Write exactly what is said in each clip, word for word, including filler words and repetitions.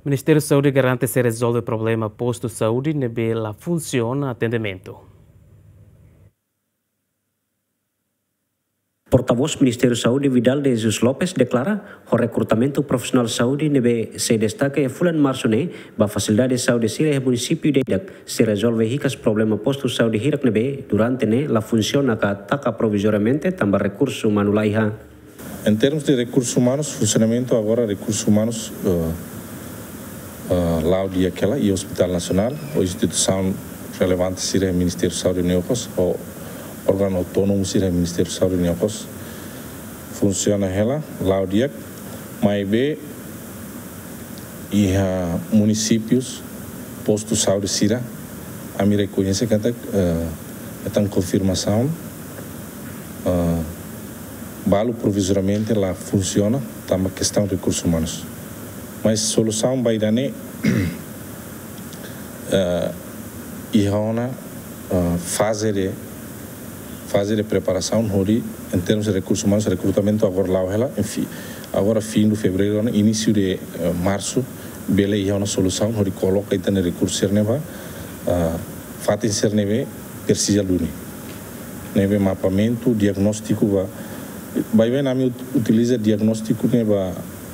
Ministériu Saúde garante sei rezolve problema postu saúde ne'ebé la funsiona atendimentu. Portavós Ministériu Saúde, Vidal de Jesus Lopes, deklara ho rekrutamentu profisionál saúde ne'ebé sei destaka iha fulan Marsu ne'e ba fasilidade saúde sira iha munisípiu ida-idak, sei rezolve hikas problema postu saúde hirak ne'ebé durante ne'e la funsiona ka taka provizoriamente tanba rekursu umanu laiha. Em termos de recursos humanos, funcionamento agora recursos humanos, eh, eh, la'o di'ak hela, iha Hospital Nacional, ou instituisaun relevante sira Ministériu Saúde nia okos, ou órgaun autónomu sira Ministériu Saúde nia okos, funsiona hela, la'o di'ak, maibé iha munisípius, postu saúde sira, ami rekoñese katak, eh, hetan konfirmasaun, eh, balu provizoriamente la funsiona, tanba kestaun rekursus umanus. Mas solusaun ba ida-ne'e, eh, iha ona, eh, faze de, faze de preparasaun hodi, em termos de recursos humanos, rekrutamentu agora la'o hela, enfim, agora fim de fevereiro, início de, eh, março, bele iha ona solusaun hodi koloka ita-nia rekursu sira-ne'e ba, eh, fatin sira ne'ebé presiza duni. Ne'ebé mapeamentu, diagnóstiku ba, baibain ami ut-, utiliza diagnóstiku ne'e ba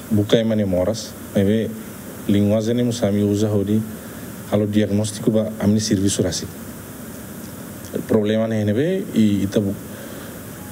buka ema nia moras, maibé linguajen ne'e mós ami uza hodi halo diagnóstiku ba ami-nia servisu rasik. Problema ne'e ne'ebé, i ita bu-,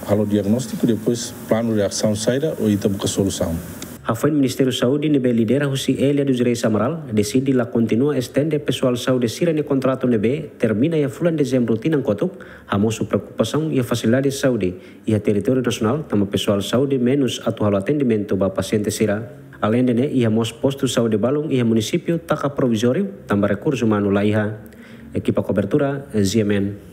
halo diagnóstiku, depois planu de asaun saida, ou ita buka solusaun. Hafoin Ministériu Saúde ne'ebé lidera husi Elia dos Reis Amaral deside la kontinua estende pesoál saúde sira-nia kontratu ne'ebé termina iha fulan Dezembru tinan kotuk, hamosu preokupasaun iha fasilidade saúde iha territóriu nasionál, tanba pesoál saúde menus atu halo atendimentu ba pasiente sira. Aleinde ne'e, iha mós postu saúde balun iha munisípiu taka provizóriu, tanba rekursu umanu laiha. Ekipa kobertura, G M N.